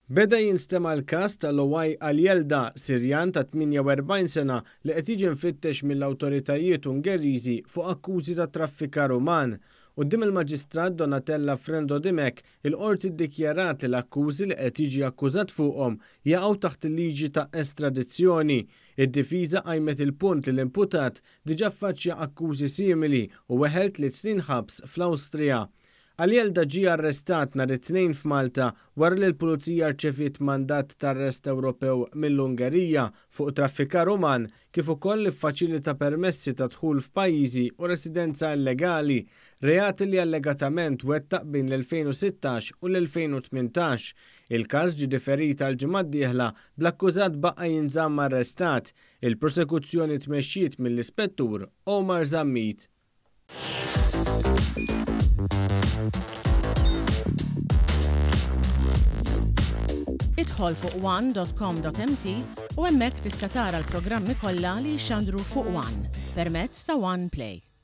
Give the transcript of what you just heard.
Beda jinstema' l-każ ta' Loai Aljelda, Sirjan ta' 48 sena li qed jiġi mfittex mill-awtoritajiet Ungeriżi fuq akkużi ta' traffikar uman. Quddiem il-Maġistrat Donatella Frendo Dimech, il-Qorti ddikjarat li l-akkużi li qed jiġi akkużat fuqhom jaqgħu taħt il-liġi ta' estradizzjoni. Id-difiża qajmet il-punt li l-imputat diġà ffaċċja akkużi simili u weħel tliet snin ħabs fl-Awstrija. Alielda ġie arrestat nhar it-Tnejn f'Malta wara li l-Pulizija rċeviet mandat t'arrest Ewropew mill-Ungerija fuq traffikar uman kif ukoll li ffaċilita permessi ta' dħul f'pajjiżi u residenza illegali, reati li allegatament wettaq bejn l-2016 u l-2018. Il-każ ġie diferit għall-ġimgħa d-dieħla bl-akkużat baqa' jinżamm arrestat. Il-prosekuzzjoni tmexxiet mill-Ispettur Omar Zammit. Idħol fuq one.com.mt u hemmhekk tista' tara l-programmi kollha li jixxandru fuq One permezz ta' One Play.